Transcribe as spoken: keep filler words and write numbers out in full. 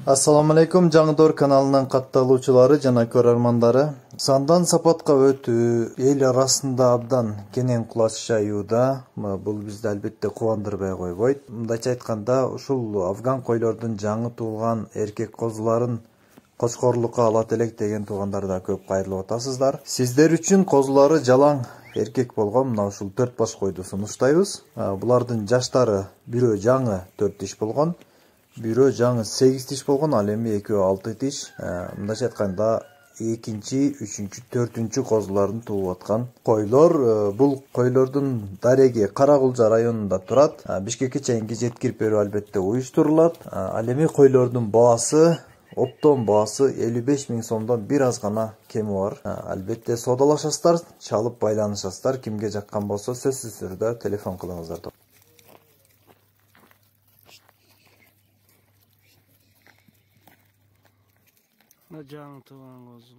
Assalamu alaikum, Жаңыдор каналынын катталуучулары жана көрөрмандары. Сандан сапатка өтүү эл арасында абдан кенен кулач жаюуда. Бул бизди албетте кубандырбай койбойт. Мындайча айтканда, ушул афган койлордун жаңы туулган эркек козуларын кочкорлукка алат элек деген туугандар да көп кайрылып атасыздар. Сиздер үчүн козулары жалаң эркек болгон мына ушул төрт баш койду сунуштайбыз. Булардын жаштары бирөө жаңы төрт тиш болгон, бирөө жаңы сегиз тиш болгон, ал эми экөө алты тиш. Мындайча айтканда экинчи, үчүнчү, төртүнчү козуларын тууп аткан койлор. Бул койлордун дареги Каракулжа районунда турат. Бишкекке чейинки жеткирип берүү албетте уюштурулат. Ал эми койлордун баасы, оптон баасы элүү беш миң сомдон бир аз гана кеми бар. Албетте соодалашасыздар, чалып байланышасыздар. Кимге жаккан болсо сөзсүз түрдө телефон кылыңыздар. Жаңы тууган козу.